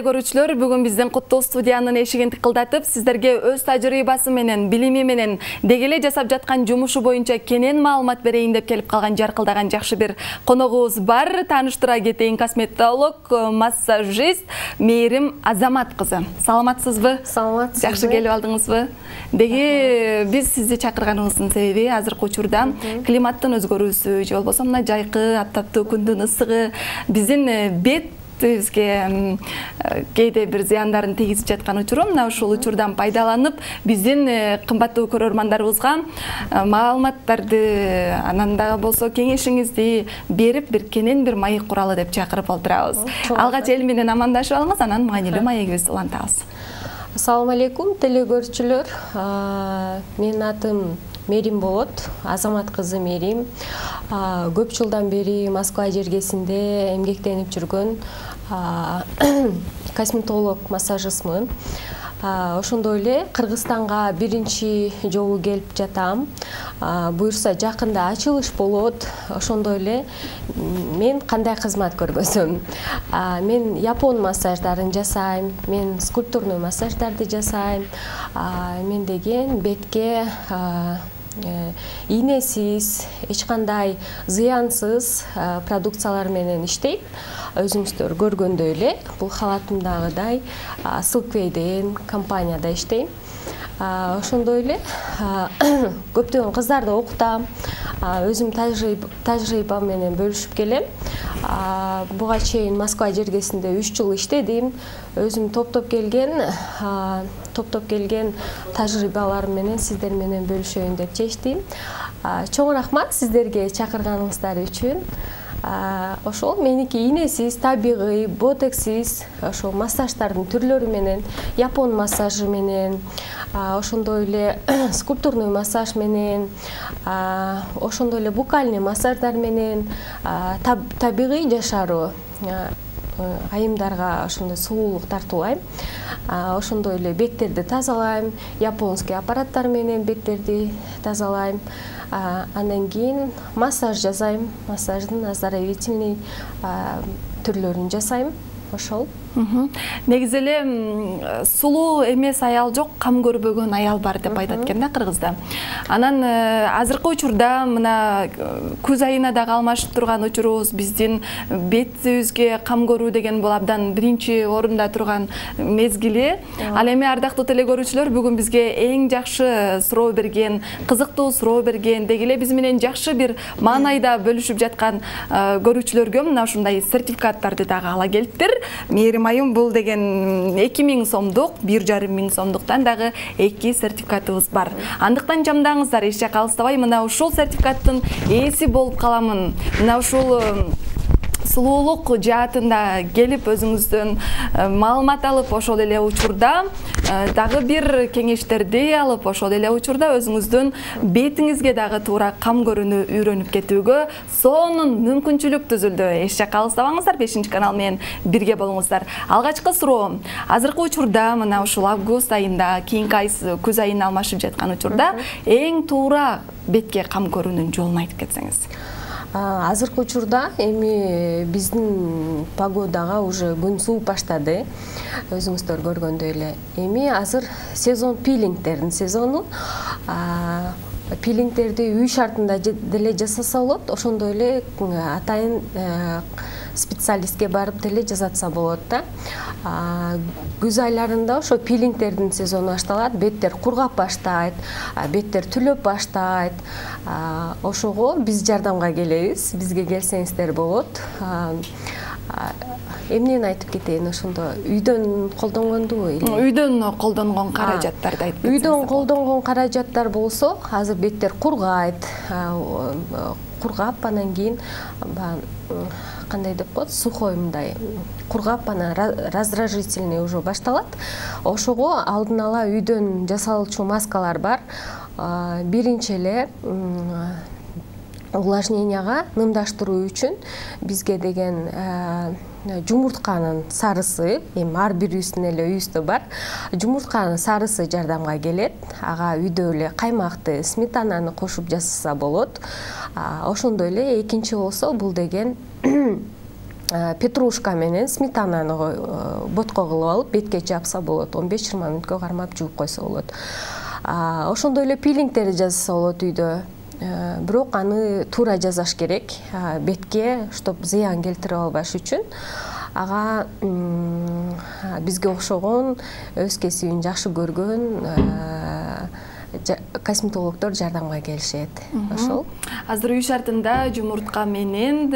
Көрүүчүлөр, бүгүн биздин Куттуу студиянын эшигин тыкылдатып, сиздерге өз тажрыйбасы менен, билими менен, дегеле жасап жаткан жумушу боюнча кенен маалымат берейин деп келип калган жаркылдаган жакшы бир коногубуз бар. Тааныштыра кетейин, косметолог, массажист Мээрим Азамат кызы. Саламатсызбы? Саламатсызбы. Жакшы келип алдыңызбы? Деги биз сизди чакырганыбыздын себеби азыркы учурда климаттын өзгөрүүсү, же болбосо мына жайкы, аптаптуу күндүн ысыгы биздин бет бизге кээде бир зыяндарын тийгизип жаткан учуру, мына ушул учурдан пайдаланып, биздин кымбаттуу көрөрмандарыбызга маалыматтарды, анан дагы болсо кеңешиңизди берип, бир кенен бир маек куралы деп чакырып олтурабыз. Алгач эл менен амандашып алыңыз, анан маанилүү маегибизди улантабыз. Ассаламу алейкум, телекөрүүчүлөр. Менин атым Мээрим болот, Азамат кызы Мээрим. Көп жылдан бери Москва жергесинде эмгектенип жүргөн косметолог, массажистмын. Ошондой эле Кыргызстанга биринчи жолу келип жатам. Буюрса жакында ачылыш болот. Ошондой эле мен кандай кызмат көргөзөм? Мен япон массаждарын жасайм, мен скульптурный массаждарды жасайм. Мен деген бетке ийнесиз, эч кандай зыянсыз продукциялар менен иштейм. Өзүңүздөр көргөндөй эле, бул халатымдагыдай Silkway компанияда иштейм. Ошондой эле көптөгөн кыздарды окутам. Өзүм тажрыйбам менен бөлүшүп келем. Буга чейин Москва жергесинде 3 жыл иштедим. Өзүм топтоп келген тажрыйбаларым менен сиздер менен бөлүшөйүн деп чечтим. Чоң рахмат сиздерге чакырганыңыздар үчүн. Ошол меники ийнесиз, табигый, ботексиз, ошол массаждардын түрлөрү менен, япон массажы менен, ошондой эле скульптурный массаж менен, ошондой эле букальный массаждар менен, табигый жашаруу айымдарга ошондой сулуулук тартуулайм. Ошондой эле беттерди тазалайм, японский аппараттар менен беттерди тазалайм. Андан кийин массаж жасайм, массаждын оздоровительный түрлөрүн жасайм. Ошол. Негизи эле сулуу эмес аял жок, кам көрбөгөн аял бар деп айтат экен да Кыргызда. Анан азыркы учурда мына күз айына дагы алмашып турган учурубуз, биздин бетибизге кам көрүү деген бул абдан биринчи орунда турган мезгили. Ал эми ардактуу телекөрүүчүлөр, бүгүн бизге эң жакшы суроо берген, кызыктуу суроо берген, деги эле биз менен жакшы бир маанайда бөлүшүп жаткан көрүүчүлөргө мына ушундай сертификаттарды дагы ала келиптир. Мээрим айым, бул деген 2000 сомдук, 1,5 сомдуктан дагы 2 сертификатыбыз бар. Андыктан жамдаңыздар, эч жакка алыстабай, мына ушул сертификаттын ээси болуп каламын. Мына ушул сулуулук жаатында келип өзүңүздөн маалымат алып, ошол эле учурда дагы бир кеңештерди алып, ошол эле учурда өзүңүздүн бетиңизге дагы туура кам көрүүнү үйрөнүп кетүүгө сонун мүмкүнчүлүк түзүлдү. Эч жакка алыстабаңыздар, 5-канал менен бирге болуңуздар. Алгачкы суроо: азыркы учурда мына ушул август айында, кийинки ай күз айына алмашып жаткан учурда эң туура бетке кам көрүүнүн жолун айтып кетсеңиз. Азыркы учурда эми биздин погодага уже күн сууп баштады. Өзүңүздөр көргөндөй эле. Эми азыр сезон, пилингдердин сезону. Пилингдерди үй шартында деле жасаса болот, ошондой эле атайын специалистке барып деле жасатса болот да. Күз айларында ошо пилингдердин сезону башталат, беттер кургап баштайт, беттер түлөп баштайт. Ошого биз жардамга келебиз, бизге келсеңиздер болот. Эмнени айтып кетейин, ошондо үйдөн колдонгондубу? Үйдөн колдонгон каражаттарды айтып кетсеңиз. Үйдөн колдонгон каражаттар болсо, азыр беттер кургайт, кургап, анан кийин кандай деп коет, сухой мындай кургап, анан раздражительный уже башталат. Ошого алдын ала үйдөн жасалуучу маскалар бар. Биринчи эле увлажненияга нымдаштыруу үчүн бизге деген жумуртканын сарысы, эми ар бирибиздин эле үйүбүздө бар, жумуртканын сарысы жардамга келет. Ага үйдө эле каймакты, сметананы кошуп жасаса болот. Ошондой эле экинчи болсо, бул деген петрушка менен сметананы ботко кылып алып бетке жапса болот. 15-20 мүнөткө кармап жууп койсо болот. Ошондой эле пилингтерди жасаса болот үйдө. Бирок аны туура жасаш керек бетке, чтоб зыян келтирип албаш үчүн. Ага бизге окшогон өз кесибин жакшы көргөн косметологдор жардамга келишет. Ошол. Азыр үй шартында жумуртка менен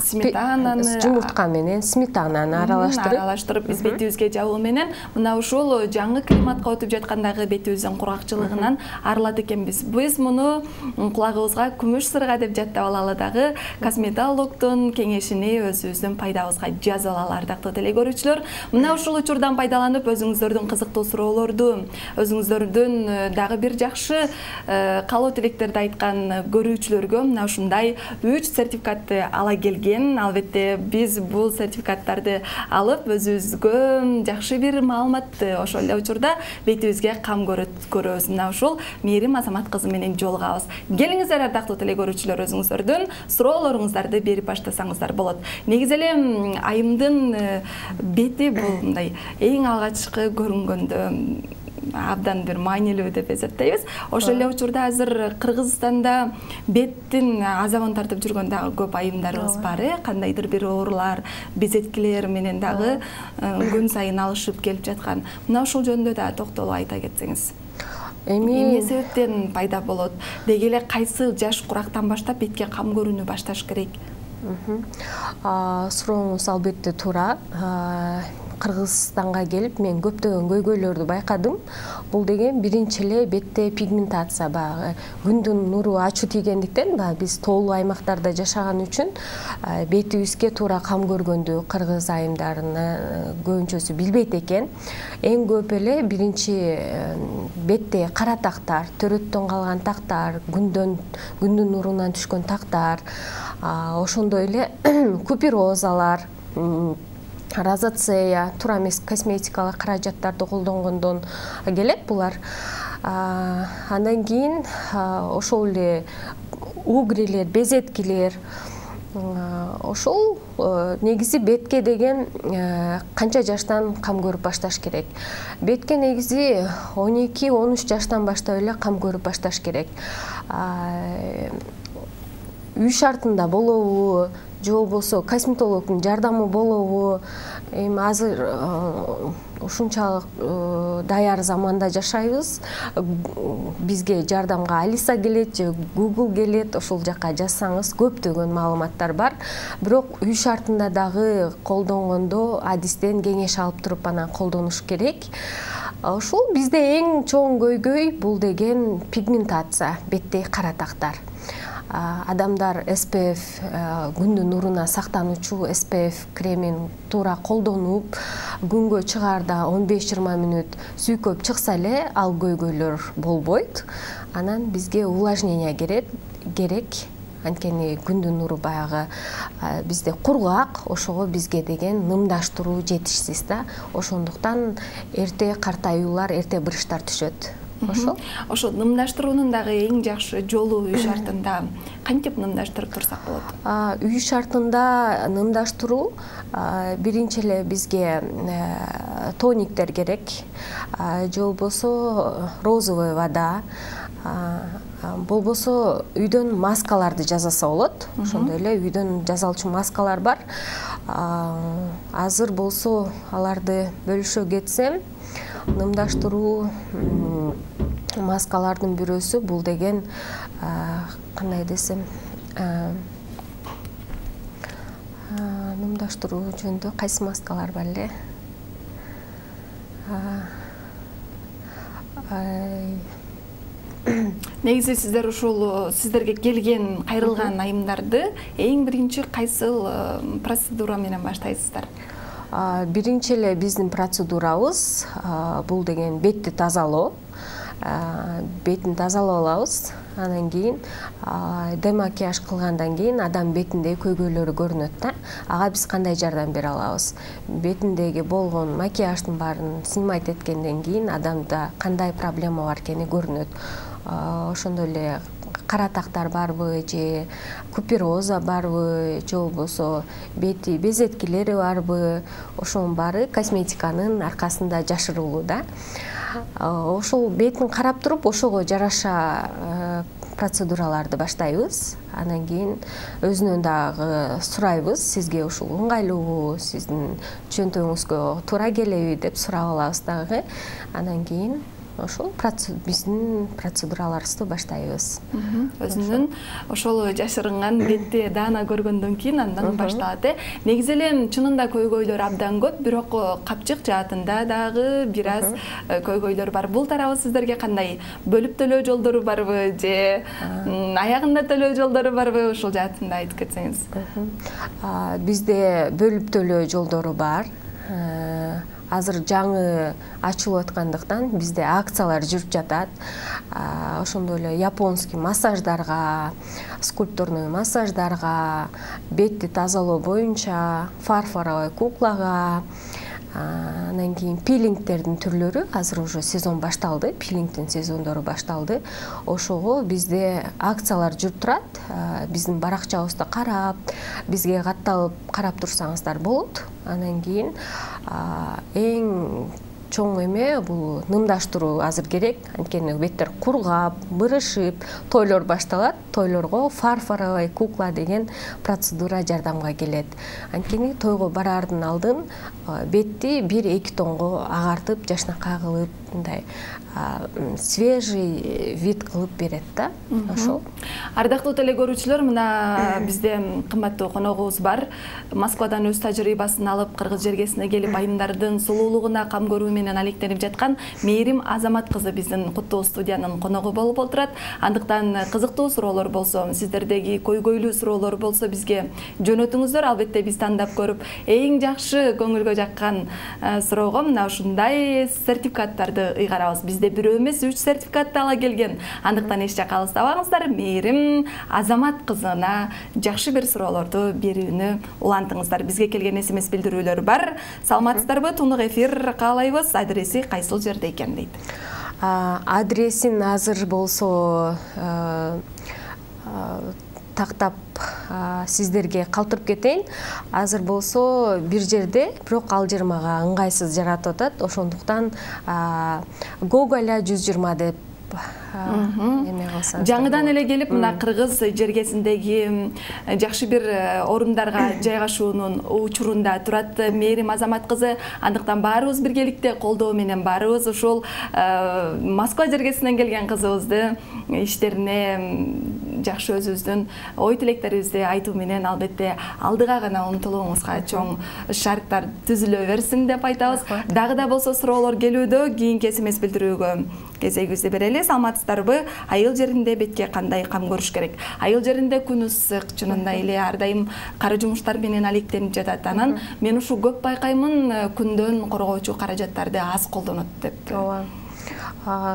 сметананы, жумуртка менен сметананы аралаштырып биз бетибизге жабуу менен мына ушул жаңы климатка өтүп жаткандагы бетибиздин кургакчылыгынан арылат экенбиз. Биз муну кулагыбызга күмүш сырга деп жаттап алалы дагы косметологдун кеңешини өзүбүздүн пайдабызга жазып алалы. Ардактуу теле көрүүчүлөр, мына ушул учурдан пайдаланып өзүңүздөрдүн кызыктуу суроолорду, өзүңүздөрдүн дагы бир жакшы каалоо тилектерди айткан көрүүчүлөргө мына ушундай 3 сертификатты ала келген. Албетте биз бул сертификаттарды алып өзүбүзгө жакшы бир маалыматты ошол эле учурда бетибизге кам көрөбүз. Мына ушул Мээрим Азамат кызы менен жолугабыз. Келиңиздер ардактуу теле көрүүчүлөр, өзүңүздөрдүн суроолоруңуздарды берип баштасаңыздар болот. Негизи эле айымдын бети бул мындай эң алгачкы көрүнгөндө абдан бир маанилүү деп эсептейбиз. Ошол эле учурда азыр Кыргызстанда беттин азабын тартып жүргөн дагы көп айымдарыбыз бар. Кандайдыр бир оорулар, безеткилер менен дагы күн сайын алышып келип жаткан. Мына ушул жөнүндө да токтолуп айта кетсеңиз. Эмне себептен пайда болот? Деги эле кайсы жаш курактан баштап бетке кам көрүүнү башташ керек? Сурооңуз албетте туура. Кыргызстанга келип мен көптөгөн көйгөйлөрдү байкадым. Бул деген биринчи эле бетте пигментация, баягы күндүн нуру ачуу тийгендиктен биз тоолуу аймактарда жашаган үчүн бетибизге туура кам көргөндү кыргыз айымдарынын көбүнчөсү билбейт экен. Эң көп эле биринчи бетте кара тактар, төрөттөн калган тактар, күндүн нурунан түшкөн тактар, ошондой эле куперозалар, розацея, туура эмес косметикалык каражаттарды колдонгондон келет булар. Андан кийин ошол эле угрилер, безеткилер. Ошол негизи бетке деген канча жаштан кам көрүп башташ керек? Бетке негизи 12-13 жаштан баштап эле кам көрүп башташ керек. Үй шартында болобу, же болбосо косметологдун жардамы болобу? Эми азыр ушунчалык даяр заманда жашайбыз. Бизге жардамга Алиса келет же Google келет. Ошол жакка жазсаңыз көптөгөн маалыматтар бар. Бирок үй шартында дагы колдонгондо адистен кеңеш алып туруп анан колдонуш керек. Ошол бизде эң чоң көйгөй бул деген пигментация, беттеги кара тактар. Адамдар SPF, күндүн нуруна сактануучу SPF кремин туура колдонуп, күнгө чыгаарда 15-20 мүнөт сүйкөп чыкса эле ал көйгөйлөр болбойт. Анан бизге увлажнение керек. Анткени күндүн нуру баягы бизде кургак, ошого бизге деген нымдаштыруу жетишсиз да. Ошондуктан эрте картаюулар, эрте бырыштар түшөт. Ошо нымдаштыруунун дагы эң жакшы жолу үй шартында кантип нымдаштырып турсак болот? Үй шартында нымдаштыруу биринчи эле бизге тониктер керек, же болбосо розовый вода, болбосо үйдөн маскаларды жасаса болот. Ошондой эле үйдөн жасалчу маскалар бар. Азыр болсо аларды бөлүшө кетсем, нымдаштыруу маскалардын бирөөсү бул деген кандай десем, нымдаштыруу жөнүндө кайсы маскалар бар эле? Негизи сиздер ушул сиздерге келген кайрылган айымдарды эң биринчи кайсыл процедура менен баштайсыздар? Биринчи эле биздин процедурабыз бул деген бетти тазалоо. Бетин тазалап алабыз. Анан кийин демакияж кылгандан кийин адам бетиндеги көйгөйлөрү көрүнөт да. Ага биз кандай жардам бере алабыз? Бетиндеги болгон макияждын баарын снимать эткенден кийин адамда кандай проблема бар экени көрүнөт. Ошондой эле каратактар барбы, же купероза барбы, же болбосо бети безеткилери барбы, ошонун баары косметиканын аркасында жашырылуу да. Ошол бетин карап туруп, ошого жараша процедураларды баштайбыз. Анан кийин өзүнөн дагы сурайбыз, сизге ушул ыңгайлуубу, сиздин чөнтөгүңүзгө туура келеби деп сурап алабыз дагы. Анан кийин ошол биздин процедураларыбызды баштайбыз. Өзүнүн ошол жашырынган бетти даана көргөндөн кийин андан башталат. Негизи эле чынында көйгөйлөр абдан көп, бирок капчык жаатында дагы бир аз көйгөйлөр бар. Бул тарабы сиздерге кандай? Бөлүп төлөө жолдору барбы же аягында төлөө жолдору барбы? Ошол жаатында айтып кетсеңиз. Бизде бөлүп төлөө жолдору бар. Азыр жаңы ачылып аткандыктан бизде акциялар жүрүп жатат. Ошондой эле японский массаждарга, скульптурный массаждарга, бетти тазалоо боюнча фарфоровый куклага, анан кийин пилингтердин түрлөрү азыр уже сезон башталды, пилингдин сезондору башталды. Ошого бизде акциялар жүрүп турат. Биздин баракчабызды карап, бизге катталып карап турсаңыздар болот. Анан кийин эң чоң эме бул нымдаштыруу азыр керек. Анткени беттер кургап, бырышып, тойлор башталат. Тойлорго фарфоровый кукла деген процедура жардамга келет. Анткени тойго бараардын алдын бетти 1-2 тонго агартып, жашнакай кылып, мындай свежий вид кылып берет да. Ошол. Ардактуу теле көрүүчүлөр, мына бизде кымбаттуу коногубуз бар. Москвадан өз тажрыйбасын алып, кыргыз жергесине келип айымдардын сулуулугуна кам көрүү менен алектенип жаткан Мээрим Азамат кызы биздин куттуу студиянын коногу болуп отурат. Андыктан кызыктуу суроолор болсо, сиздердеги көйгөйлүү суроолор болсо бизге жөнөтүңүздөр. Албетте биз тандап көрүп, эң жакшы көңүлгө жаккан суроого мына ушундай сертификаттарды ыйгарабыз. Бизде бирөө эмес 3 сертификатты ала келген. Андыктан эч жакка алыстабаңыздар. Мээрим Азамат кызына жакшы бир суроолорду берүүнү улантыңыздар. Бизге келген SMS билдирүүлөр бар. Саламатсыздарбы? Тунук эфир каалайбыз. Адреси кайсыл жерде экен дейт. Адресин азыр болсо тактап сиздерге калтырып кетейин. Азыр болсо бир жерде, бирок ал жер мага ыңгайсыз жаратып атат. Ошондуктан Гоголя 120 деп жаңыдан эле келип мына кыргыз жергесиндеги жакшы бир орундарга жайгашуунун учурунда турат Мээрим Азамат кызы. Андыктан баарыбыз биргеликте колдоо менен барыбыз ушул Москва жергесинен келген кызыбызды иштерине жакшы өзүбүздүн ой тилектерибизди айтуу менен албетте алдыга гана умтулууңузга чоң шарттар түзүлө берсин деп айтабыз. Дагы да болсо суроолор келүүдө, кийинки SMS билдирүүгө кезегибизди берели. Саламатсыздарбы? Айыл жеринде бетке кандай кам көрүш керек? Айыл жеринде күн ысык, чынында эле ар дайым кара жумуштар менен алектенип жатат. Анан мен ушу көп байкаймын, күндөн коргоочу каражаттарды аз колдонот деп.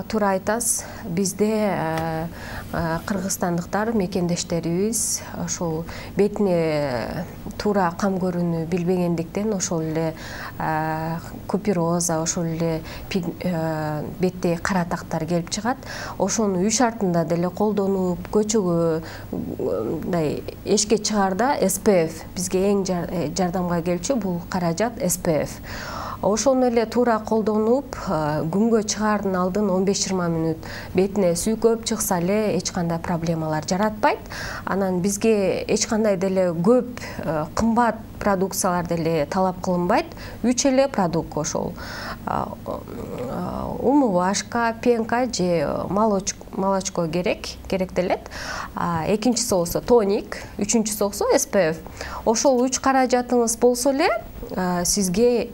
Туура айтасыз. Бизде кыргызстандыктар мекендештерибиз ошол бетине туура кам көрүүнү билбегендиктен ошол эле купероза, ошол эле бетте каратактар келип чыгат. Ошону үй шартында деле колдонуп, көчөгө мындай эшикке чыгаарда SPF бизге эң жардамга келчү бул каражат SPF. Ошону эле туура колдонуп, күнгө чыгаардын алдын 15-20 мүнөт бетине сүйкөп чыкса эле эч кандай проблемалар жаратпайт. Анан бизге эч кандай деле көп кымбат продукциялар деле талап кылынбайт. 3 эле продукт ошол умывашка, пенка же молочко керектелет. Экинчиси болсо тоник, үчүнчүсү болсо SPF. Ошол 3 каражатыңыз болсо эле сизге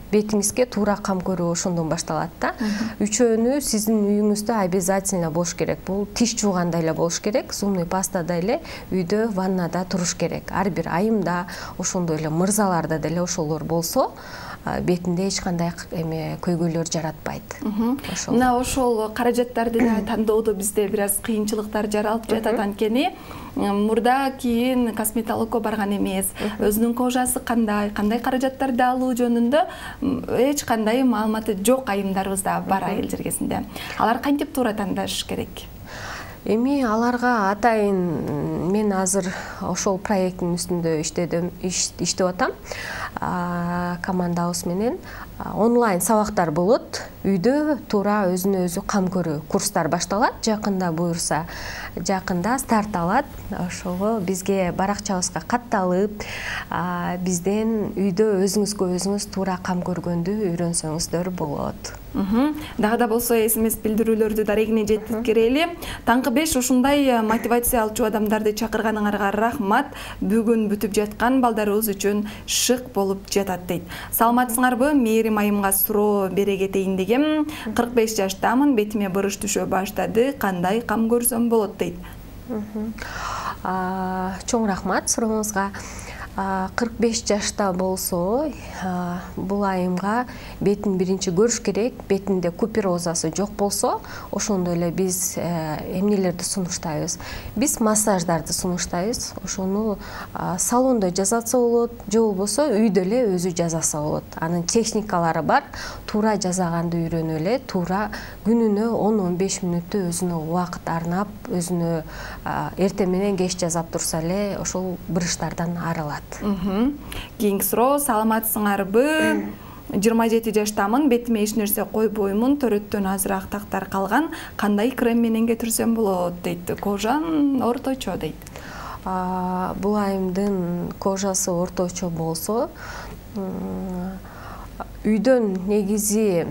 бетиңизге туура кам көрүү ошондон башталат да. Үчөөнү сиздин үйүңүздө обязательно болуш керек. Бул тиш жууганда эле болуш керек, зубный пастада эле үйдө ваннада туруш керек. Ар бир айымда ошондой эле мырзаларда деле ошолор болсо бетинде эч кандай эме көйгөйлөр жаратпайт. Мына ошол каражаттарды тандоодо бизде бир аз кыйынчылыктар жаралып жатат. Анткени мурда кийин косметологко барган эмес, өзүнүн кожасы кандай каражаттарды алуу жөнүндө эч кандай маалыматы жок айымдарыбыз да бар айыл жергесинде. Алар кантип туура тандаш керек? Эми аларга атайын мен азыр ошол проекттин үстүндө иштеп атам. Командабыз менен онлайн сабактар болот. Үйдө туура өзүнө өзү кам көрүү курстар башталат. Жакында буюрса, жакында старт алат. Ошого бизге баракчабызга катталып, бизден үйдө өзүңүзгө өзүңүз туура кам көргөндү үйрөнсөңүздөр болот. Дагы да болсо СМС билдирүүлөрдү дарегине жеткирели. Таңкы 5 ушундай мотивация алчу адамдарды чакырганыңарга рахмат. Бүгүн бүтүп жаткан балдарыбыз үчүн шык болуп жатат дейт. Саламатсыңарбы? Мээрим айымга суроо бере кетейин дегем. 45 жаштамын, бетиме бырыш түшө баштады. Кандай кам көрсөм болот дейт. Чоң рахмат сурооңузга. 45 жашта болсо, бул айымга бетин биринчи көрүш керек. Бетинде куперозасы жок болсо, ошондо эле биз эмнелерди сунуштайбыз? Биз массаждарды сунуштайбыз. Ошону салондо жасатса болот, же болбосо үйдө эле өзү жасаса болот. Анын техникалары бар. Туура жасаганды үйрөнүп эле, туура күнүнө 10-15 мүнөттө өзүнө убакыт арнап, өзүнө эртең менен кеч жасап турса эле ошол бырыштардан арылат. Кийинки суроо, саламатсыңарбы? 27 жаштамын, бетиме эч нерсе койбоймун, төрөттөн азыраак тактар калган. Кандай крем менен кетирсем болот дейт. Кожам орточо дейт. Бул айымдын кожасы орточо болсо, үйдөн негизи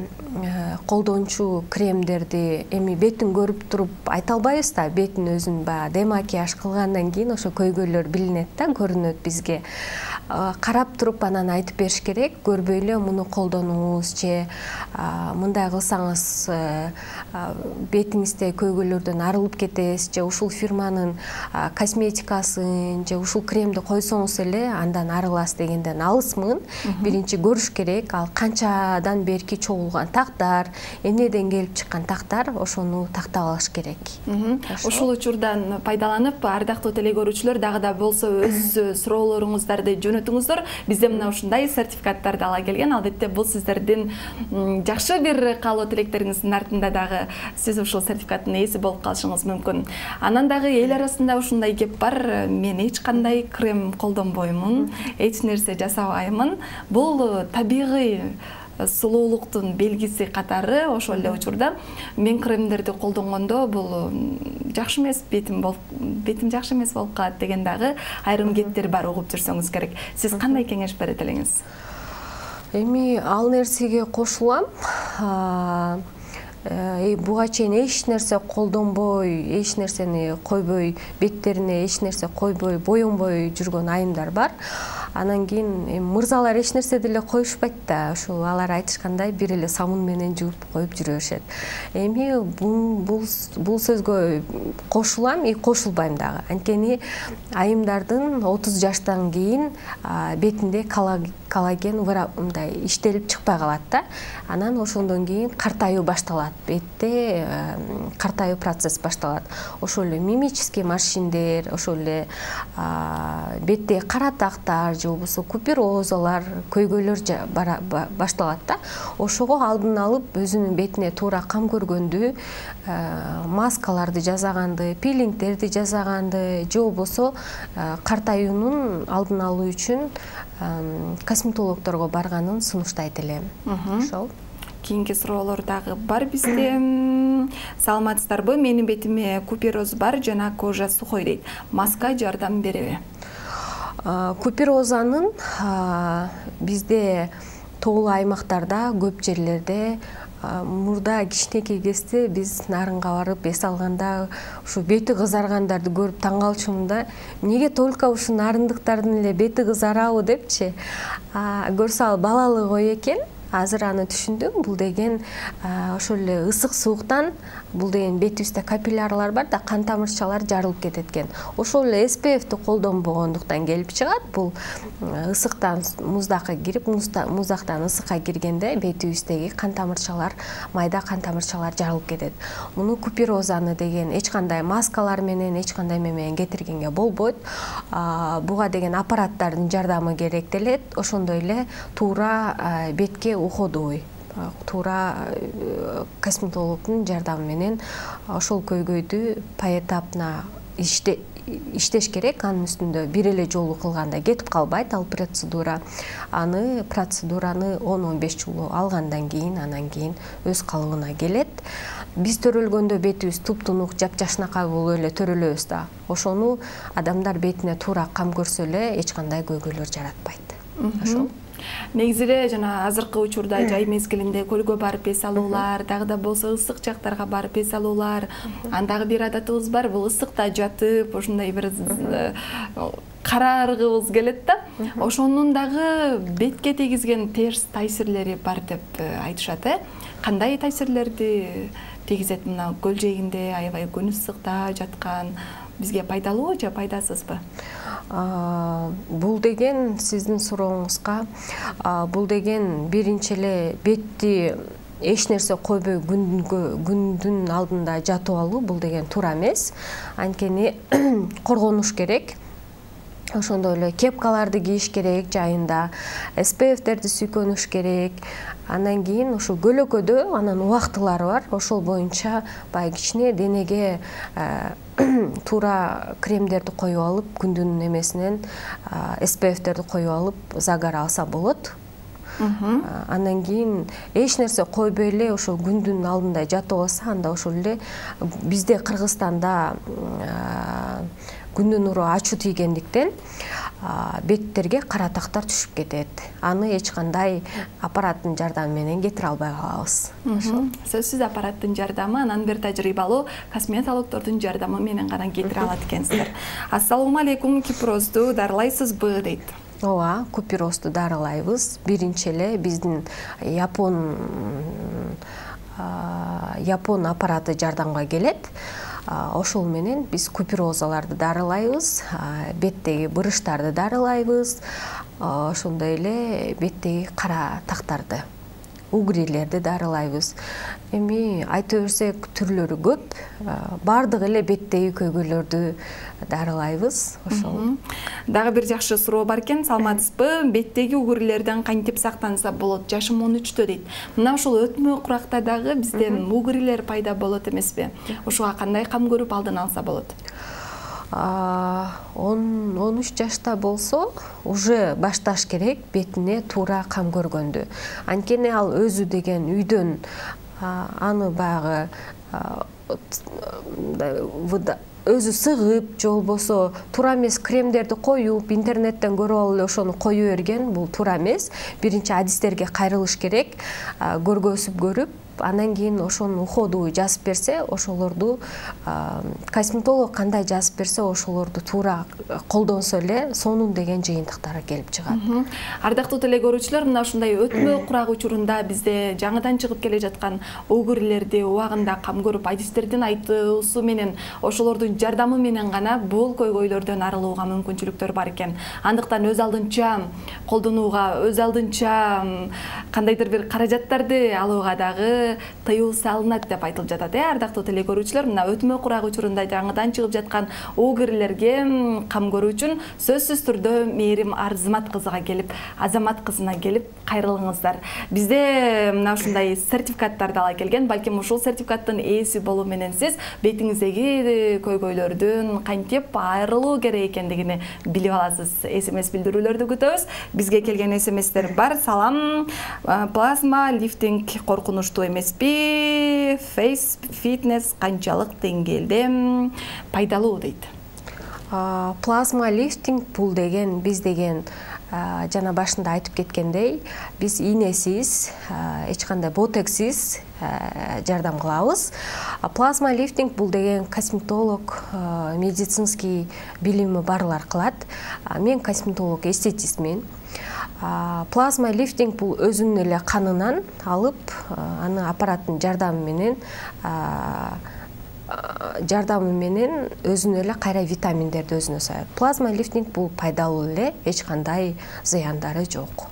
колдончу кремдерди эми бетин көрүп туруп айта албайбыз да. Бетин өзүн баягы демакияж кылгандан кийин ошо көйгөйлөр билинет да, көрүнөт бизге. Карап туруп анан айтып бериш керек. Көрбөй эле муну колдонуңуз же мындай кылсаңыз бетиңизде көйгөйлөрдөн арылып кетесиз, же ушул фирманын косметикасын же ушул кремди койсоңуз эле андан арыласыз дегенден алысмын. Биринчи көрүш керек, ал канчадан берки чогулган тактар, эмнеден келип чыккан тактар, ошону тактап алыш керек. Ушул учурдан пайдаланып, ардактуу телекөрүүчүлөр, дагы да болсо өз суроолоруңуздарды жөнөтүңүздөр. Бизде мына ушундай сертификаттарды ала келген. Албетте бул сиздердин жакшы бир каалоо тилектериңиздин артында дагы сиз ушул сертификаттын ээси болуп калышыңыз мүмкүн. Анан дагы эл арасында ушундай кеп бар. Мен эч кандай крем колдонбоймун, эч нерсе жасабаймын. Бул табигый сулуулуктун белгиси катары. Ошол эле учурда мен кремдерди колдонгондо бул жакшы эмес, бетим жакшы эмес болуп калат деген дагы айрым кеттер бар, угуп жүрсөңүз керек. Сиз кандай кеңеш берет элеңиз? Эми ал нерсеге кошулам. Буга чейин эч нерсе колдонбой, эч нерсени койбой, беттерине эч нерсе койбой, боyonбой жүргөн айымдар бар. Анан кийин мырзалар эч нерсе деле коюшпайт да. Ушул алар айтышкандай бир эле самун менен жууп коюп жүрө беришет. Эми бул сөзгө кошулам, кошулбайм дагы. Анткени айымдардын 30 жаштан кийин бетинде коллаген мындай иштелип чыкпай калат да. Анан ошондон кийин картаюу башталат. Бетте картаюу процесс башталат. Ошол эле мимический морщиндер, ошол эле бетте кара тактар, же болбосо куперозалар, көйгөйлөр башталат да. Ошого алдын алып, өзүнүн бетине туура кам көргөндү, маскаларды жасаганды, пилингдерди жасаганды, же болбосо картаюунун алдын алуу үчүн косметологдорго барганын сунуштайт элем. Ошол. Кийинки суроолор дагы бар бизде. Саламатсыздарбы? Менин бетиме купероз бар жана кожа сухой дейт. Маска жардам береби? Куперозанын бизде тоолуу аймактарда, көп жерлерде мурда кичинекей кезде биз нарынга барып эс алганда ушу бети кызаргандарды көрүп таң калчумун да. Эмнеге только ушу нарындыктардын эле бети кызарабы депчи. Көрсө ал балалык ой экен. Азыр аны түшүндүм. Бул деген ошол эле ысык сууктан бул деген бетибизде капиллярлар бар да, кан тамырчалар жарылып кетет экен. Ошол эле SPF-ти колдонбогондуктан келип чыгат. Бул ысыктан муздакка кирип, муздактан ысыкка киргенде бетибиздеги кан тамырчалар, майда кан тамырчалар жарылып кетет. Муну куперозаны деген эч кандай маскалар менен, эч кандай менен кетиргенге болбойт. Буга деген аппараттардын жардамы керектелет. Ошондой эле туура бетке уходовой туура косметологдун жардамы менен ошол көйгөйдү поэтапно иштеш керек. Анын үстүндө бир эле жолу кылганда кетип калбайт ал процедураны 10-15 жолу алгандан кийин анан кийин өз калыбына келет. Биз төрөлгөндө бетибиз туп-тунук, жапжашнакай болуп эле төрөлөбүз да. Ошону адамдар бетине туура кам көрсө эле эч кандай көйгөйлөр жаратпайт. Ошол. Негизи эле жана азыркы учурда жай мезгилинде көлгө барып эс алуулар, дагы да болсо ысык жактарга барып эс алуулар, андагы бир адатыбыз бар, бул ысыкта жатып, ошондой бир карааргыбыз келет да. Ошонун дагы бетке тийгизген терс таасирлери бар деп айтышат, Кандай таасирлерди тийгизет мына көл жээгинде аябай күн ысыкта жаткан бизге пайдалуу же пайдасызбы? Бул деген сиздин сурооңузга, бул деген биринчи эле бетти эч нерсе койбой күндүн алдында жатып алуу бул деген туура эмес. Анткени коргонуш керек. Ошондой эле кепкаларды кийиш керек жайында, SPF-терди сүйкөнүш керек. Андан кийин ошо көлөкөдө анан убактылары бар. Ошол боюнча баягы кичине денеге туура кремдерди коюп алып, күндүн эмесинен SPF-терди коюп алып, загар алса болот. Андан кийин эч нерсе койбой эле ошо күндүн алдында жатып алса, анда ошол эле бизде Кыргызстанда күндүн нуру ачуу тийгендиктен беттерге кара тактар түшүп кетет. Аны эч кандай аппараттын жардамы менен кетире албай калабыз. Сөзсүз аппараттын жардамы, анан бир тажрыйбалуу косметологдордун жардамы менен гана кетире алат экенсиздер. Ассалому алейкум, кипирозду дарылайсызбы дейт. Ооба, купирозду дарылайбыз. Биринчи эле биздин Япон аппараты жардамга келет. Ошол менен биз куперозаларды дарылайбыз, беттеги бырыштарды дарылайбыз, ошондой эле беттеги кара тактарды, угрилерди дарылайбыз. Эми айта берсек түрлөрү көп, бардыгы эле беттеги көйгөйлөрдү дарылайбыз. Ошол. Дагы бир жакшы суроо бар экен, саламатсызбы? Беттеги угрилерден кантип сактанса болот? Жашым 13-тө дейт. Мына ошол өтмө куракта дагы бизден угрилер пайда болот эмеспи? Ошого кандай кам көрүп алдын алса болот? 13 жашта болсо уже башташ керек бетине туура кам көргөндү. Анткени ал өзү деген үйдөн аны баягы өзү сыгып, же болбосо туура эмес кремдерди коюп, интернеттен көрүп алып эле ошону кое берген, бул туура эмес. Биринчи адистерге кайрылыш керек, көргөзүп көрүп, андан кийин ошону уходу жазып берсе, ошолорду косметолог кандай жазып берсе, ошолорду туура колдонсо эле сонун деген жыйынтыктары келип чыгат. Ардактуу теле көрүүчүлөр, мына ушундай өтмө курак учурунда бизде жаңыдан чыгып келе жаткан угрилерди убагында кам көрүп, адистердин айтуусу менен, ошолордун жардамы менен гана бул көйгөйлөрдөн арылууга мүмкүнчүлүктөр бар экен. Андыктан өз алдынча колдонууга, өз алдынча кандайдыр бир каражаттарды алууга дагы тыюу салынат деп айтылып жатат. Ардактуу теле көрүүчүлөр, мына өтмө курак учурунда жаңыдан чыгып жаткан угрилерге кам көрүү үчүн сөзсүз түрдө Мээрим Арзымат кызына келип кайрылыңыздар. Бизде мына ушундай сертификаттар дала келген. Балким ушул сертификаттын ээси болуу менен сиз бетиңиздеги көйгөйлөрдөн кантип айрылуу керек экендигини билип аласыз. SMS билдирүүлөрдү күтөбүз. Бизге келген SMS-тер бар. Салам, плазма лифтинг коркунучтуу эмеспи? Face fitness канчалык деңгээлде пайдалуу дейт. Плазма лифтинг бул деген биз деген жана башында айтып кеткендей, биз ийнесиз, эч кандай ботексиз жардам кылабыз. Плазма лифтинг бул деген косметолог, медицинский билими барлар кылат. Мен косметолог, эстетистмен. Плазма лифтинг бул өзүнүн эле канынан алып, аны аппараттын жардамы менен өзүнө эле кайра витаминдерди өзүнө саят. Плазма лифтинг бул пайдалуу эле, эч кандай зыяндары жок.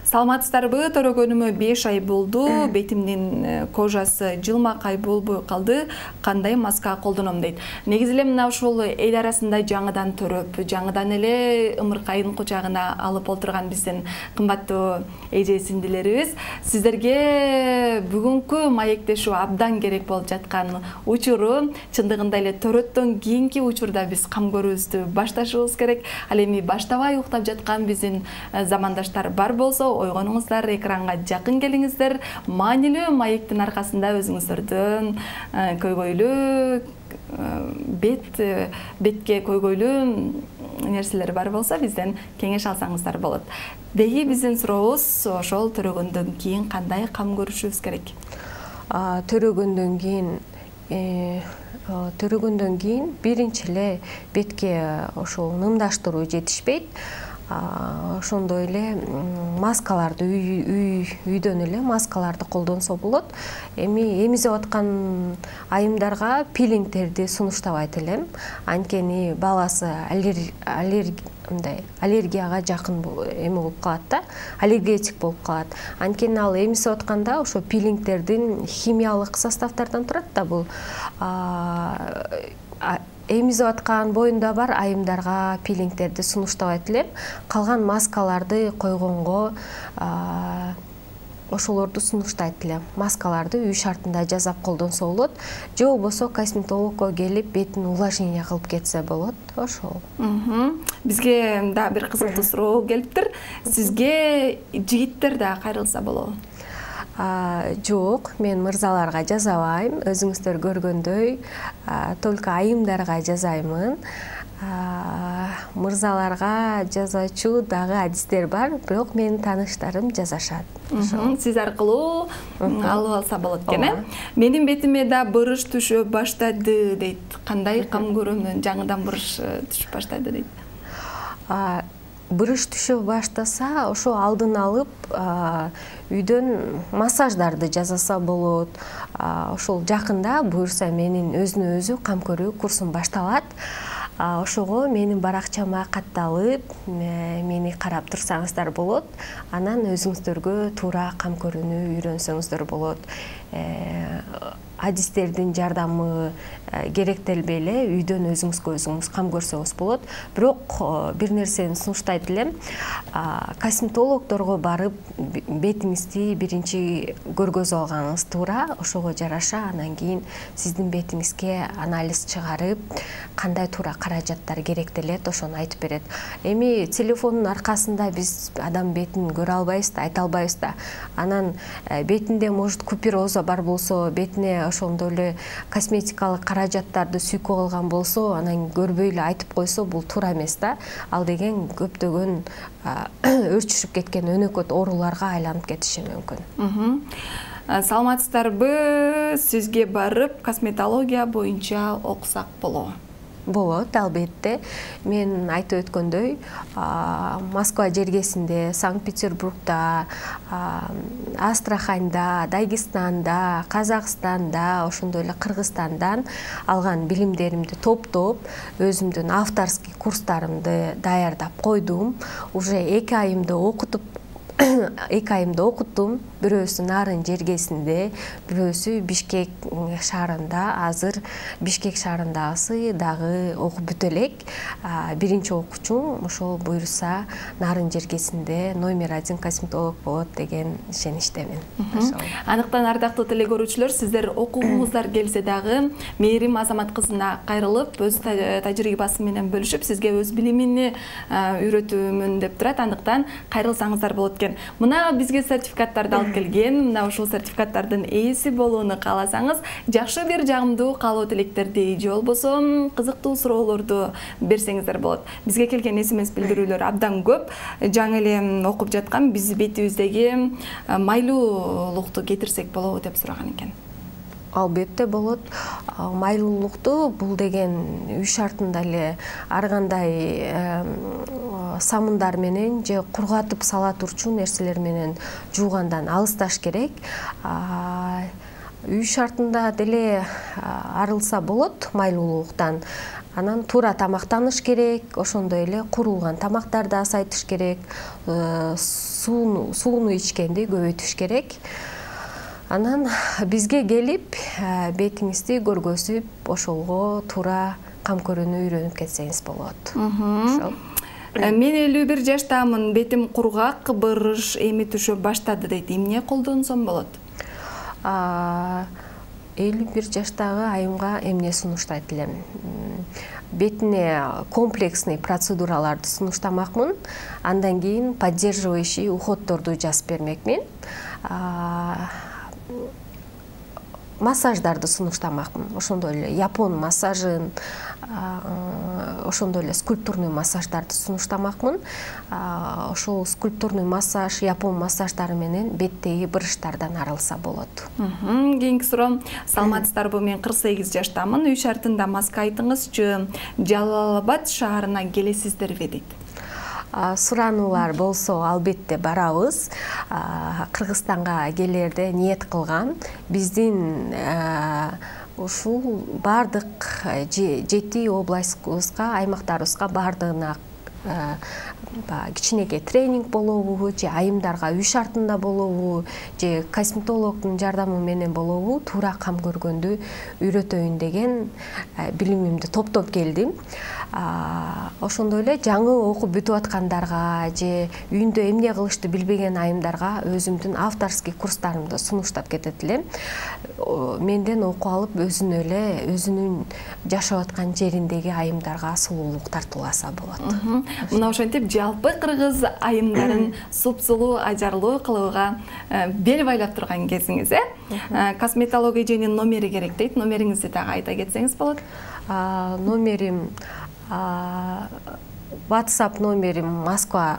Саламатсыздарбы? Төрөгөнүмө 5 ай болду. Бетимдин кожасы жылмакай болбой калды. Кандай маска колдоном дейт. Негизи эле мына ушул эл арасында жаңыдан төрөп, жаңыдан эле ымыркайдын кучагына алып олтурган биздин кымбаттуу эже сиңдилерибиз сиздерге бүгүнкү маектешүү абдан керек болуп жаткан учуру, чындыгында эле төрөттөн кийинки учурда биз кам көрүүбүздү башташыбыз керек. Ал эми баштабай уктап жаткан биздин замандаштар бар болсо, ойгонуңуздар, экранга жакын келиңиздер. Маанилүү маектин аркасында өзүңүздөрдүн көйгөйлүү бетке көйгөйлүү нерселер бар болсо, бизден кеңеш алсаңыздар болот. Деги биздин сурообуз ошол төрөгөндөн кийин кандай кам көрүшүбүз керек? Төрөгөндөн кийин биринчи эле бетке ошол нымдаштыруу жетишпейт. Ошондой эле маскаларды үйдөн эле маскаларды колдонсо болот. Эми эмизип аткан айымдарга пилингтерди сунуштабайт элем. Анткени баласы аллергияга жакын эми болуп калат да, аллергетик болуп калат. Анткени ал эмисип атканда ошо пилингтердин химиялык составдардан турат да, бул эмизип аткан боюнда бар айымдарга пилингтерди сунуштабайт элем. Калган маскаларды койгонго ошолорду сунуштайт элем. Маскаларды үй шартында жасап колдонсо болот, же болбосо косметологко келип бетин увлажнение кылып кетсе болот. Ошол. Бизге да бир кызыктуу суроо келиптир. Сизге жигиттер да кайрылса болобу? Жок, мен мырзаларга жазабайм. Өзүңүздөр көргөндөй, только айымдарга жазаймын. Мырзаларга жазачу дагы адистер бар, бирок менин тааныштарым жазашат. Сиз аркылуу алып алса болот экен, э? Менин бетиме да бырыш түшө баштады дейт. Кандай кам көрөмүн? Жаңыдан бырыш түшүп баштады дейт. Бырыш түшө баштаса, ошо алдын алып үйдөн массаждарды жасаса болот. Ошол жакында буюрса менин өзүнө өзү кам көрүү курсум башталат. Ошого менин баракчама катталып, мени карап турсаңыздар болот. Анан өзүңүздөргө туура кам көрүүнү үйрөнсөңүздөр болот. Адистердин жардамы керектелбей эле үйдөн өзүңүзгө өзүңүз кам көрсөңүз болот. Бирок бир нерсени сунуштайт элем. Косметологдорго барып бетиңизди биринчи көргөзүп алганыңыз туура. Ошого жараша анан кийин сиздин бетиңизге анализ чыгарып, кандай туура каражаттар керектелет, ошону айтып берет. Эми телефондун аркасында биз адам бетин көрө албайбыз да, айта албайбыз да. Анан бетинде может купероза бар болсо, бетине ошондой эле косметикалык каражаттарды сүйкөп алган болсо, анан көрбөй эле айтып койсо, бул туура эмес да. Ал деген көптөгөн өрчүшүп кеткен өнөкөт ооруларга айланып кетиши мүмкүн. Саламатсыздарбы? Сизге барып косметология боюнча окусак болобу? Болот, албетте. Мен айтып өткөндөй, Москва жергесинде, Санкт-Петербургда, Астраханда, Дагестанда, Казакстанда, ошондой эле Кыргызстандан алган билимдеримди топтоп, өзүмдүн авторский курстарымды даярдап койдум. Уже 2 айымды окуттум. Бирөөсү Нарын жергесинде, бирөөсү Бишкек шаарында. Азыр Бишкек шаарындагысы дагы окуп бүтө элек. Биринчи окуучум ошол буюрса Нарын жергесинде номер 1 косметолог болот деген ишеничтемин. Аныктан ардактуу теле көрүүчүлөр, сиздер окугуңуздар келсе дагы Мээрим Азамат кызына кайрылып, өз тажрыйбасы менен бөлүшүп, сизге өз билимини үйрөтүүмүн деп турат. Андыктан кайрылсаңыздар болот экен. Мына бизге сертификаттарды алып келген. Мына ушул сертификаттардын ээси болууну кааласаңыз, жакшы бир жагымдуу каалоо тилектерди же болбосо кызыктуу суроолорду берсеңиздер болот. Бизге келген СМС билдирүүлөр абдан көп. Жаңы эле окуп жаткан биз бетибиздеги майлуулукту кетирсек болобу деп сураган экен. Албетте болот. Майлуулукту бул деген үй шартында эле ар кандай самындар менен же кургатып сала турчу нерселер менен жуугандан алысташ керек. Үй шартында деле арылса болот майлуулуктан. Анан туура тамактаныш керек, ошондой эле куурулган тамактарды азайтыш керек, сууну ичкенди көбөйтүш керек. Анан бизге келип, бетиңизди көргөзүп, ошолго туура кам көрүүнү үйрөнүп кетсеңиз болот. Ошол. Мен 51 жаштамын, бетим кургак, бырыш эми түшө баштады дейт. Эмне колдонсом болот? 51 жаштагы айымга эмне сунуштайт элем? Бетине комплексный процедураларды сунуштамакмын. Андан кийин поддерживающий уходдорду жазып бермекмин. Массаждарды сунуштамакмын. Ошондой эле япон массажын, ошондой эле скульптурный массаждарды сунуштамакмын. Ошол скульптурный массаж, япон массаждары менен беттеги бырыштардан арылса болот. Кийинки суроо, саламатсыздарбы? Мен 48 жаштамын. Үй шартында маска айтыңызчы, Жалал Абад шаарына келесиздерби дейт. Сурануулар болсо албетте барабыз. Кыргызстанга келерде ниет кылгам. Биздин ушул бардык 7 областыбызга, аймактарыбызга бардыгына кичинекей тренинг болобу, же айымдарга үй шартында болобу, же косметологдун жардамы менен болобу, туура кам көргөндү үйрөтөйүн деген билимимди топтоп келдим. Ошондой эле жаңы окуп бүтүп аткандарга же үйүндө эмне кылышты билбеген айымдарга өзүмдүн авторский курстарымды сунуштап кетет элем. Менден окуп алып өзүнүн жашап аткан жериндеги айымдарга сулуулук тартууласа болот. Мына ошентип жалпы кыргыз айымдарын супсулуу, ажарлуу кылууга бел байлап турган кезиңиз, косметология жөнүнүн номери керек дейт. Номериңизди дагы айта кетсеңиз болот. Номерим WhatsApp номерим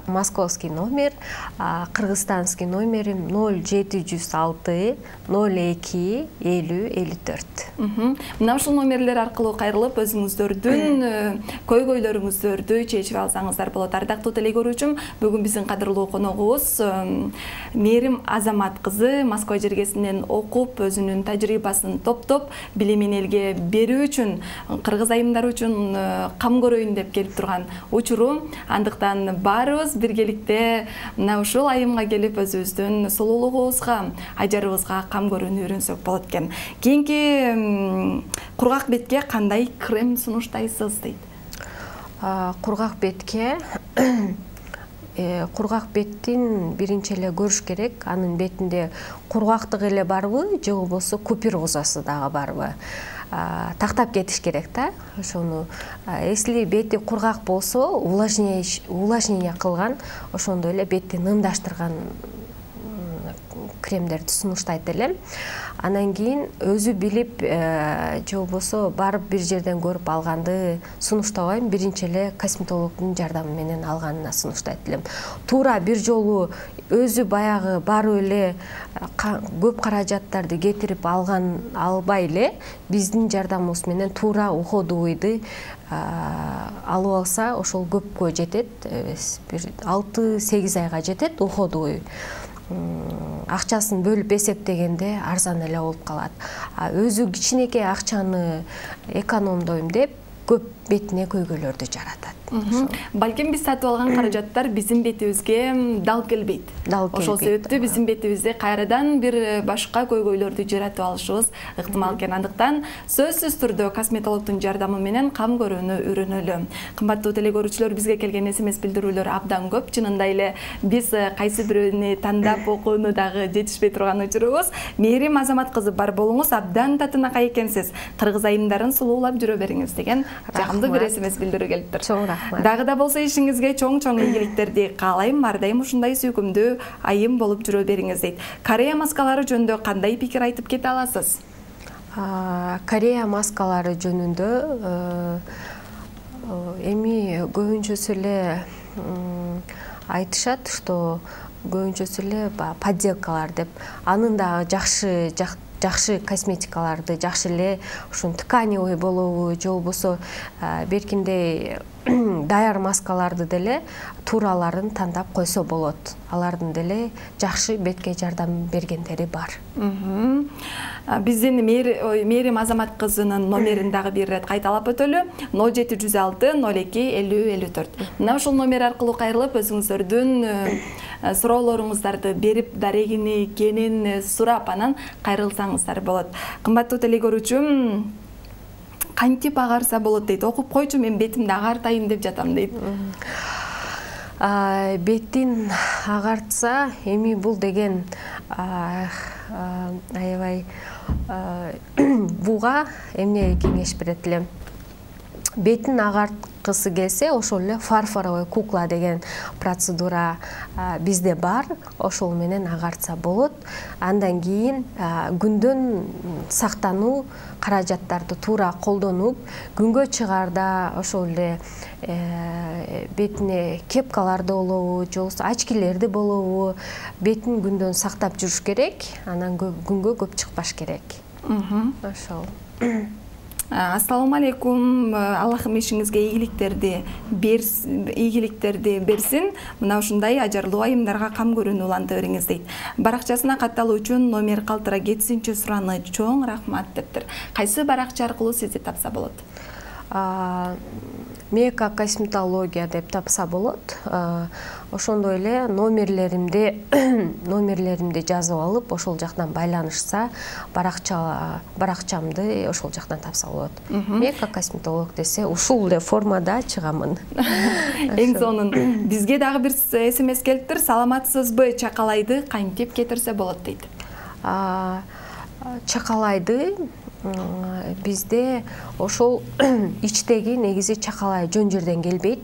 московский номер, кыргызстанский номерим 0706 02 50 54. Мына ушул номерлер аркылуу кайрылып өзүңүздөрдүн көйгөйлөрүңүздөрдү чечип алсаңыздар болот. Ардактуу теле көрүүчүм, бүгүн биздин кадырлуу коногубуз Мээрим Азамат кызы Москва жергесинен окуп, өзүнүн тажрыйбасын топтоп, билимин элге берүү үчүн, кыргыз айымдары үчүн кам көрөйүн деп келип турган учуру. Андыктан баарыбыз биргеликте мына ушул айымга келип өзүбүздүн сулуулугубузга, ажарыбызга кам көрүүнү үйрөнсөк болот экен. Кийинки кургак бетке кандай крем сунуштайсыз дейт? Кургак бетке кургак беттин биринчи эле көрүш керек, анын бетинде кургактык эле барбы, же болбосо куперозасы дагы барбы? Тактап кетиш керек да. Ошону если бети кургак болсо, увлажнение кылган, ошондой эле бетти нымдаштырган кремдерди сунуштайт элем. Анан кийин өзү билип, же болбосо барып бир жерден көрүп алганды сунуштабайм, биринчи эле косметологдун жардамы менен алганына сунуштайт элем. Туура бир жолу өзү баягы барып эле көп каражаттарды кетирип албай эле биздин жардамыбыз менен туура уходовойду алып алса, ошол көпкө жетет. Бир 6-8 айга жетет уходовой. Акчасын бөлүп эсептегенде арзан эле болуп калат. Өзү кичинекей акчаны экономдойм деп көп бетине көйгөйлөрдү жаратат. Балким биз сатып алган каражаттар биздин бетибизге дал келбейт. Ошол себептүү биздин бетибизде кайрадан бир башка көйгөйлөрдү жаратып алышыбыз ыктымал экен. Андыктан сөзсүз түрдө косметологдун жардамы менен кам көрүүнү үйрөнөлү. Кымбаттуу теле көрүүчүлөр, бизге келген SMS билдирүүлөр абдан көп. Чынында эле биз кайсы бирөөнү тандап окууну дагы жетишпей турган учурубуз. Мээрим Азамат кызы, бар болуңуз, абдан татынакай экенсиз. Кыргыз айымдарын сулуулап жүрө бериңиз деген жагымдуу бир SMS билдирүү келиптир. Дагы да болсо ишиңизге чоң-чоң ийгиликтерди каалайм. Ар дайым ушундай сүйкүмдүү айым болуп жүрө бериңиз дейт. Корея маскалары жөнүндө кандай пикир айтып кете аласыз? Корея маскалары жөнүндө эми көбүнчөсү эле айтышат, что көбүнчөсү эле подделкалар деп. Анын дагы жакшы косметикаларды, жакшы эле ушун тканевый болобу, же болбосо беркиндей даяр маскаларды деле туураларын тандап койсо болот. Алардын деле жакшы бетке жардам бергендери бар. Биздин Мээрим Азамат кызынын номерин дагы бир ирет кайталап өтөлү. 0706 02 50 54. Мына ушул номер аркылуу кайрылып өзүңүздөрдүн суроолоруңуздарды берип, дарегини, кенин сурап анан кайрылсаңыздар болот. Кымбаттуу теле көрүүчүм, кантип агарса болот дейт. Окуп койчу, мен бетимди агартайын деп жатам дейт. Беттин агартса, эми бул деген аябай буга эмне кеңеш берет элем. Бетин агарткысы келсе, ошол эле фарфоровый кукла деген процедура бизде бар. Ошол менен агартса болот. Андан кийин күндөн сактануу каражаттарды туура колдонуп, күнгө чыгарда ошол эле бетине кепкаларды болобу, же болбосо очкилерди болобу, бетин күндөн сактап жүрүш керек. Анан күнгө көп чыкпаш керек. Ошол. Ассаламу алейкум. Аллахым ишиңизге ийгиликтерди берсин. Мына ушундай ажарлуу айымдарга кам көрүүнү уланта бериңиз дейт. Баракчасына катталуу үчүн номер калтыра кетсинчи сураны. Чоң рахмат дептир. Кайсы баракча аркылуу сизди тапса болот? Мека косметология деп тапса болот. Ошондой эле номерлеримди жазып алып, ошол жактан байланышса, баракчамды ошол жактан тапса болот. Мека косметолог десе, ушул эле формада чыгамын. Эң сонун. Бизге дагы бир СМС келиптир. Саламатсызбы, чакалайды кантип кетирсе болот дейт. Чакалайды бизде ошол ичтеги негизи чакалай жөн жерден келбейт.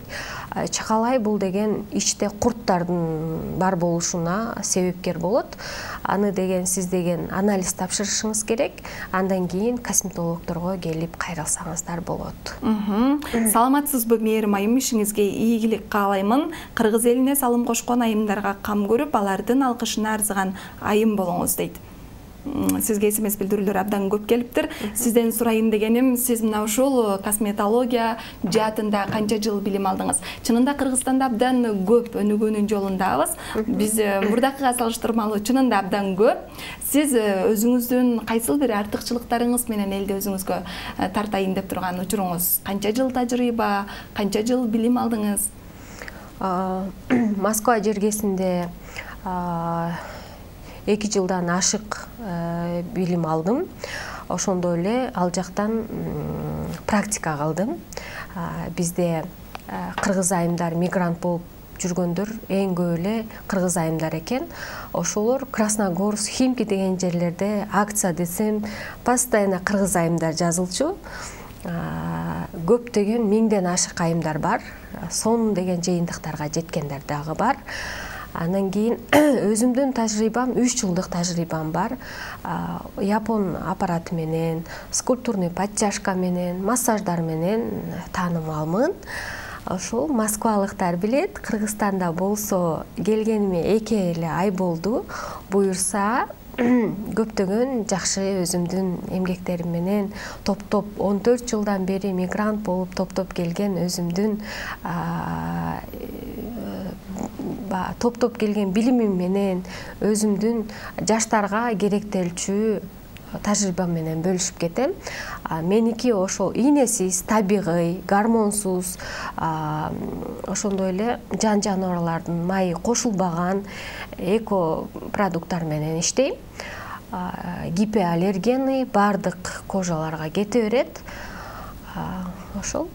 Чакалай бул деген ичте курттардын бар болушуна себепкер болот. Аны деген сиз деген анализ тапшырышыңыз керек. Андан кийин косметологдорго келип кайрылсаңыздар болот. Саламатсызбы, Мээрим айым, ишиңизге ийгилик каалаймын. Кыргыз элине салым кошкон айымдарга кам көрүп, алардын алкышына арзыган айым болуңуз дейт. Сизге СМС билдирүүлөр абдан көп келиптир. Сизден сурайын дегеним, сиз мына ушул косметология жаатында канча жыл билим алдыңыз? Чынында Кыргызстанда абдан көп өнүгүүнүн жолундабыз. Биз мурдакыга салыштырмалуу чынында абдан көп. Сиз өзүңүздүн кайсыл бир артыкчылыктарыңыз менен элди өзүңүзгө тартайын деп турган учуруңуз? Канча жыл тажрыйба, канча жыл билим алдыңыз? Москва жергесинде 2 жылдан ашык билим алдым. Ошондой эле ал жактан практика кылдым. Бизде кыргыз айымдар мигрант болуп жүргөндөр эң көп эле кыргыз айымдар экен. Ошолор Красногорск, Химки деген жерлерде акция десем, постоянно кыргыз айымдар жазылчу. Көптөгөн 1000ден ашык айымдар бар. Сон деген жыйынтыктарга жеткендер дагы бар. Андан кийин өзүмдүн тажрыйбам 3 жылдык тажрыйбам бар. Япон аппараты менен, скульптурный подтяжка менен, массаждар менен таанымалмын. Ошол москвалыктар билет. Кыргызстанда болсо келгениме 2 эле ай болду. Буюрса көптөгөн жакшы өзүмдүн эмгектерим менен топ-топ 14 жылдан бери мигрант болуп топ-топ келген өзүмдүн топ-топ келген билимим менен өзүмдүн жаштарга керектелчү тажрыйбам менен бөлүшүп кетем. Меники ошол ийнесиз, табигый, гормонсуз, ошондой эле жан жаныбарлардын майы кошулбаган эко продукттар менен иштейм. Гипоаллергенный бардык кожаларга кете берет. Ошол.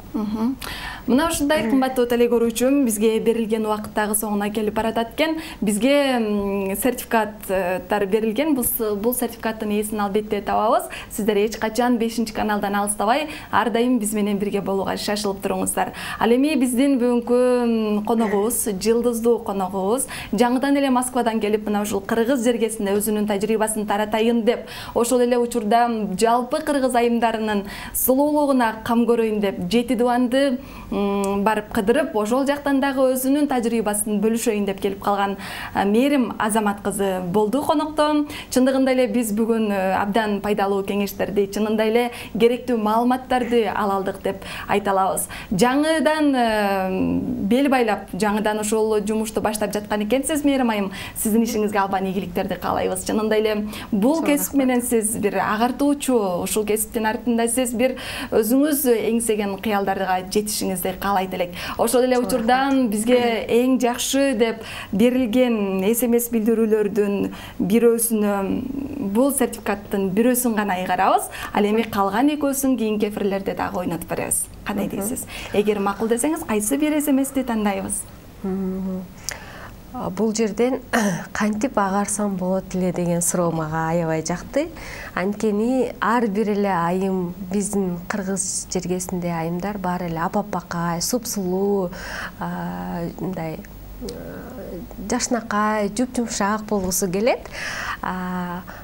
Мына ушундай кымбаттуу теле көрүүчүм, бизге берилген убакыт дагы соңуна келип баратат экен. Бизге сертификаттар берилген. Бул сертификаттын ээсин албетте табабыз. Сиздер эч качан 5-каналдан алыстабай, ар дайым биз менен бирге болууга шашылып туруңуздар. Ал эми биздин бүгүнкү коногубуз, жылдыздуу коногубуз, жаңыдан эле Москвадан келип, мына ушул кыргыз жергесинде өзүнүн тажрыйбасын таратайын деп, ошол эле учурда жалпы кыргыз айымдарынын сулуулугуна кам көрөйүн деп деп 7 дубанды барып кыдырып, ошол жактан дагы өзүнүн тажрыйбасын бөлүшөйүн деп келип калган Мээрим Азамат кызы болду конокто. Чындыгында эле биз бүгүн абдан пайдалуу кеңештерди, чынында эле керектүү маалыматтарды ала алдык деп айта алабыз. Жаңыдан бел байлап, жаңыдан ошол жумушту баштап жаткан экенсиз, Мээрим айым. Сиздин ишиңизге албан ийгиликтерди каалайбыз. Чынында эле бул кесип менен сиз бир агартуучу, ушул кесиптин артында сиз бир өзүңүз эңсеген кыялдарга жетишиңизди каалайт элек. Ошол эле учурдан бизге эң жакшы деп берилген SMS билдирүүлөрдүн бирөөсүнө, бул сертификаттын бирөөсүн гана ыйгарабыз. Ал эми калган экөөсүн кийинки эфирлерде дагы ойнотуп беребиз. Кандай дейсиз? Эгер макул десеңиз, кайсы бир SMS-ти тандайбыз? Бул жерден кантип агарсам болот эле деген суроо мага аябай жакты. Анткени ар бир эле айым, биздин кыргыз жергесинде айымдар баары эле апапакай, супсулуу, мындай жашнакай, жуп-жумшак болгусу келет.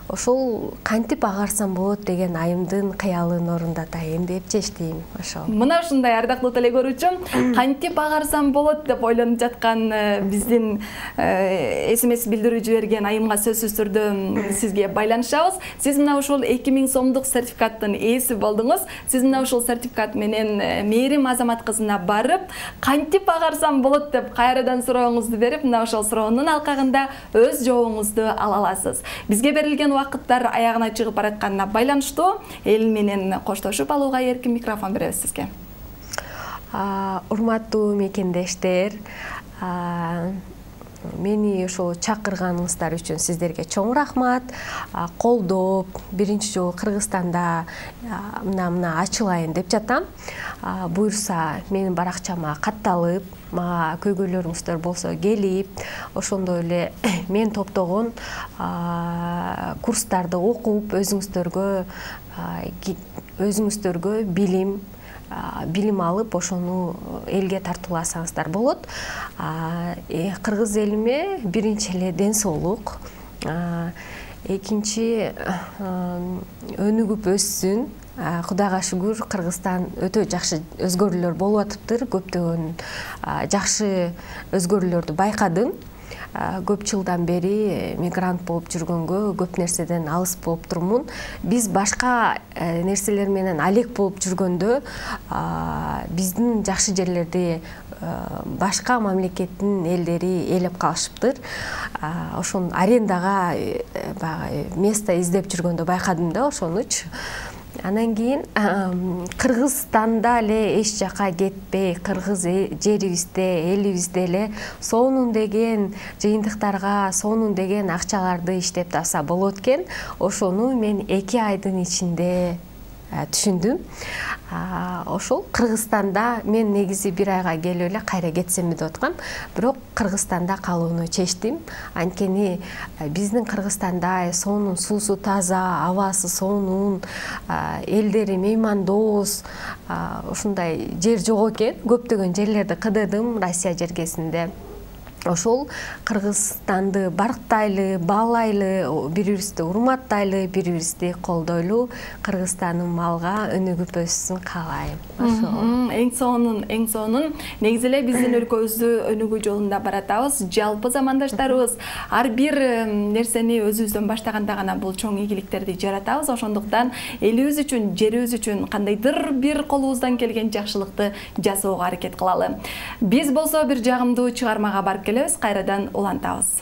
Ошол кантип агарсам болот деген айымдын кыялын орундатайын деп чечтим. Ошол. Мына ушундай ардактуу теле көрүүчүм, кантип агарсам болот деп ойлонуп жаткан биздин SMS билдирүү жиберген айымга сөзсүз түрдө сизге байланышабыз. Сиз мына ушул 2000 сомдук сертификаттын ээси болдуңуз. Сиз мына ушул сертификат менен Мээрим Азамат кызына барып, кантип агарсам болот деп кайрадан сурооңузду берип, мына ошол суроонун алкагында өз жообуңузду ала аласыз. Бизге берилген убакыттар аягына чыгып баратканына байланыштуу эл менен коштошуп алууга эркин микрофон беребиз сизге. Урматтуу мекендештер, мени ошо чакырганыңыздар үчүн сиздерге чоң рахмат. Колдоп, биринчи жолу Кыргызстанда мына ачылайын деп жатам. Буюрса, менин баракчама катталып, мага көйгөйлөрүңүздөр болсо келип, ошондой эле мен топтогон курстарды окуп, өзүңүздөргө билим алып, ошону элге тартууласаңыздар болот. Кыргыз элиме биринчи эле ден соолук, экинчи өнүгүп өссүн. Кудайга шүгүр, Кыргызстан өтө жакшы өзгөрүүлөр болуп атыптыр. Көптөгөн жакшы өзгөрүүлөрдү байкадым. Көп жылдан бери мигрант болуп жүргөнгө көп нерседен алыс болуп турмун. Биз башка нерселер менен алек болуп жүргөндө биздин жакшы жерлерди башка мамлекеттин элдери ээлеп калышыптыр. Ошон арендага место издеп жүргөндө байкадым да ошонучу. Анан кийин Кыргызстанда эле эч жака кетпей, кыргыз жерибизде, элибизде эле сонун деген жыйынтыктарга, сонун деген акчаларды иштеп тапса болот экен. Ошону мен 2 айдын ичинде түшүндүм. Ошол Кыргызстанда мен негизи 1 айга келип эле кайра кетсемби деп аткам, бирок Кыргызстанда калууну чечтим. Анткени биздин Кыргызстанда сонун суусу таза, абасы сонун, элдери меймандоос, ушундай жер жок экен. Көптөгөн жерлерди кыдырдым Россия жергесинде. Ошол Кыргызстанды барктайлы, баалайлы, бири-бирибизди урматтайлы, бири-бирибизди колдойлу Кыргызстандын малга өнүгүп өссүн каалайм. Ошол. Эң сонун. Негизи эле биздин өлкөбүздү өнүгүү жолунда баратабыз. Жалпы замандаштарыбыз ар бир нерсени өзүбүздөн баштаганда гана бул чоң ийгиликтерди жаратабыз. Ошондуктан элибиз үчүн, жерибиз үчүн кандайдыр бир колубуздан келген жакшылыкты жасоого аракет кылалы. Биз болсо бир жагымдуу чыгармага барып келебиз, кайрадан улантабыз.